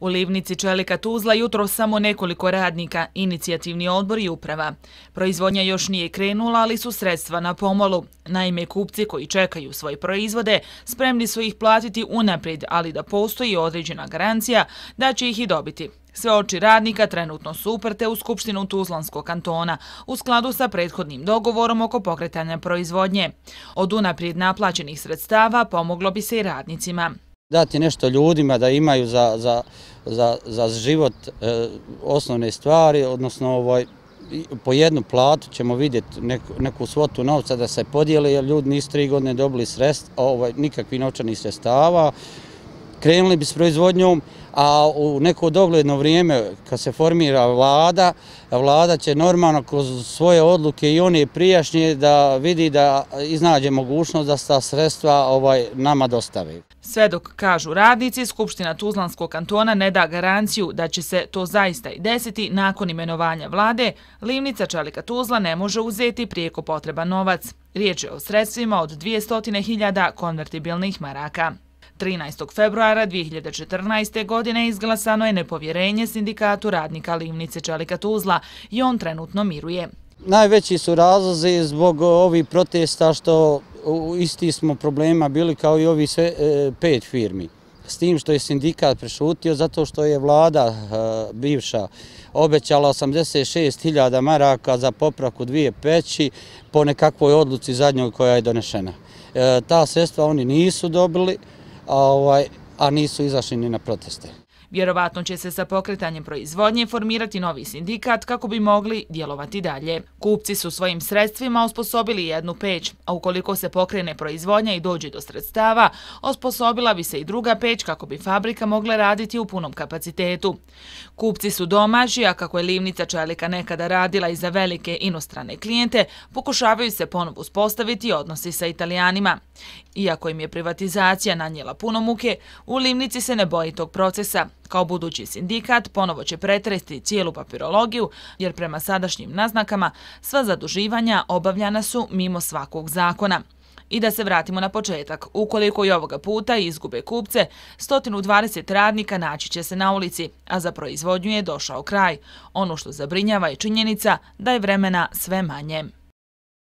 U Livnici Čelika Tuzla jutro samo nekoliko radnika, inicijativni odbor i uprava. Proizvodnja još nije krenula, ali su sredstva na pomolu. Naime, kupci koji čekaju svoje proizvode spremni su ih platiti unaprijed, ali da postoji određena garancija da će ih i dobiti. Sve oči radnika trenutno su uprte u Skupštinu Tuzlanskog kantona u skladu sa prethodnim dogovorom oko pokretanja proizvodnje. Od unaprijed naplaćenih sredstava pomoglo bi se i radnicima. Dati nešto ljudima da imaju za život osnovne stvari, odnosno po jednu platu ćemo vidjeti neku svotu novca da se podijele, jer ljudi nisu 3 godine dobili nikakvih novčanih sredstava. Krenuli bi s proizvodnjom, a u neko dogledno vrijeme kad se formira vlada će normalno kroz svoje odluke i one prijašnje da vidi da iznađe mogućnost da se ta sredstva nama dostave. Sve dok, kažu radnici, Skupština Tuzlanskog kantona ne da garanciju da će se to zaista i desiti nakon imenovanja vlade, Livnica Čelika Tuzla ne može uzeti prijeko potreban novac. Riječ je o sredstvima od 200.000 konvertibilnih maraka. 13. februara 2014. godine izglasano je nepovjerenje sindikatu radnika Livnice Čelika Tuzla i on trenutno miruje. Najveći su razlozi zbog ovih protesta što isti smo problema bili kao i ovi 5 firmi. S tim što je sindikat prešutio zato što je vlada bivša obećala 86.000 maraka za popravku 2 peći po nekakvoj odluci zadnjoj koja je donešena. Ta sredstva oni nisu dobili, a nisu izašli ni na proteste. Vjerovatno će se sa pokretanjem proizvodnje formirati novi sindikat kako bi mogli djelovati dalje. Kupci su svojim sredstvima osposobili jednu peć, a ukoliko se pokrene proizvodnja i dođe do sredstava, osposobila bi se i druga peć kako bi fabrika mogla raditi u punom kapacitetu. Kupci su domaći, a kako je Livnica Čelika nekada radila i za velike inostrane klijente, pokušavaju se ponovo uspostaviti odnosi sa Italijanima. Iako im je privatizacija nanijela puno muke, u Livnici se ne boji tog procesa. Kao budući sindikat ponovo će pretresti cijelu papirologiju, jer prema sadašnjim naznakama sva zaduživanja obavljana su mimo svakog zakona. I da se vratimo na početak, ukoliko i ovoga puta izgube kupce, 120 radnika naći će se na ulici, a za proizvodnju je došao kraj. Ono što zabrinjava je činjenica da je vremena sve manje.